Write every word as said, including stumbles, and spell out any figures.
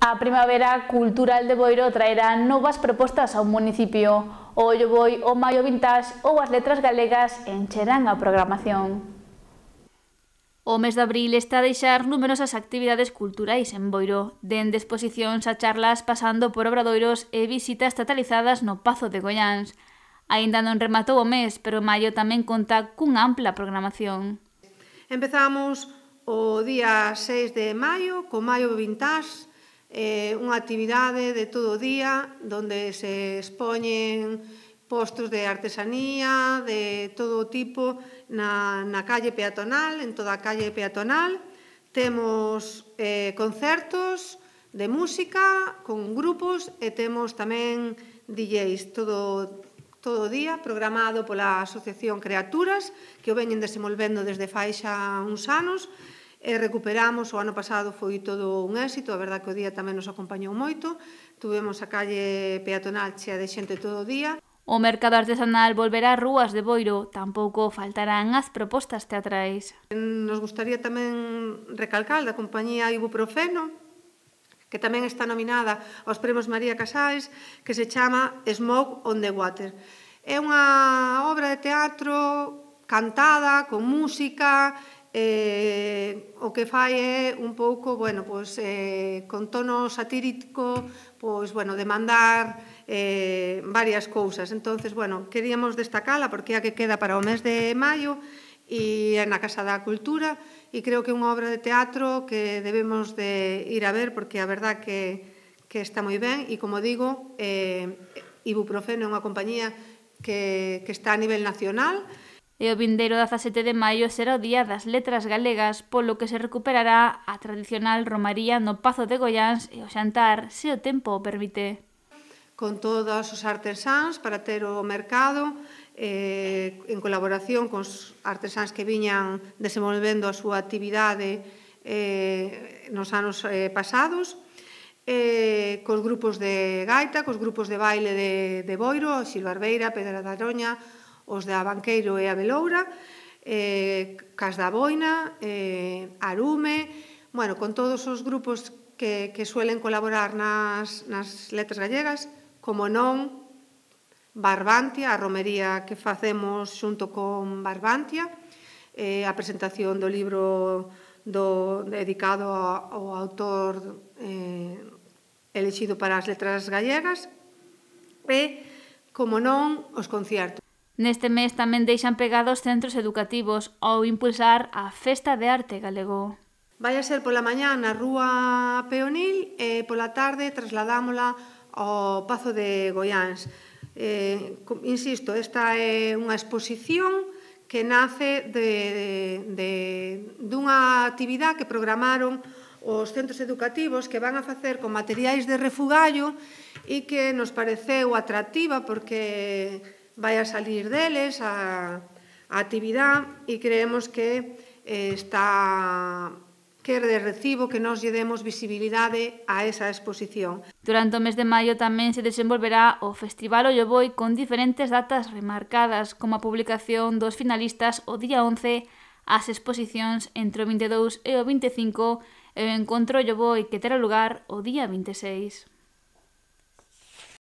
A Primavera Cultural de Boiro traerá novas propostas ao municipio. O Ollo Boi, o Maio Vintage ou as letras galegas encherán a programación. O mes de abril está a deixar numerosas actividades culturais en Boiro, dende exposicións a charlas pasando por obradoiros e visitas totalizadas no Pazo de Goiáns. Aínda non rematou o mes, pero maio tamén conta cunha ampla programación. Empezamos o día seis de maio co Maio Vintage, eh, unha actividade de todo o día onde se expoñen postos de artesanía de todo tipo na, na calle peatonal, en toda a calle peatonal. Temos eh, concertos de música con grupos e temos tamén D Js todo, todo o día programado pola Asociación Creaturas, que o veñen desenvolvendo desde fai xa uns anos. E recuperamos, o ano pasado foi todo un éxito, a verdad que o día tamén nos acompañou moito. Tuvemos a calle peatonal chea de xente todo o día. O mercado artesanal volverá ás rúas de Boiro, tampouco faltarán as propostas teatrais. Nos gustaría tamén recalcar da compañía Ibuprofeno, que tamén está nominada aos Premios María Casais, que se chama Smoke on the Water. É unha obra de teatro cantada, con música, Eh, o que fai é un pouco, bueno, pois, eh, con tono satírico, pois, bueno, demandar eh, varias cousas. Entonces, bueno, queríamos destacala porque é a que queda para o mes de maio e é na Casa da Cultura e creo que é unha obra de teatro que debemos de ir a ver porque a verdad que, que está moi ben e, como digo, eh, Ibuprofeno é unha compañía que, que está a nivel nacional. E o vindeiro dezasete de maio será o Día das Letras Galegas, polo que se recuperará a tradicional romaría no Pazo de Goiáns e o xantar, se o tempo o permite. Con todos os artesáns para ter o mercado, eh, en colaboración con os artesáns que viñan desenvolvendo a súa actividade eh, nos anos eh, pasados, eh, cos grupos de gaita, cos grupos de baile de, de Boiro, Xilbarbeira, Pedra da Aroña, os de Abanqueiro e a Beloura, eh, Cas da Boina, eh, Arume, bueno, con todos os grupos que, que suelen colaborar nas, nas letras gallegas, como non Barbantia, a romería que facemos xunto con Barbantia, eh, a presentación do libro do, dedicado ao autor eh, elexido para as letras gallegas, e, como non, os concertos. Neste mes tamén deixan pegados centros educativos ao impulsar a Festa de Arte Galego. Vai a ser pola mañá na Rúa Peonil e pola tarde trasladámola ao Pazo de Goiáns. Eh, insisto, esta é unha exposición que nace de, de, de, dunha actividade que programaron os centros educativos que van a facer con materiais de refugallo e que nos pareceu atractiva porque vai a salir deles a, a actividade e creemos que eh, está que é de recibo que nos lle demos visibilidade a esa exposición. Durante o mes de maio tamén se desenvolverá o Festival Ollo Boi con diferentes datas remarcadas, como a publicación dos finalistas o día once, as exposicións entre o vinte e dous e o vinte e cinco e o encontro Ollo Boi que terá lugar o día vinte e seis.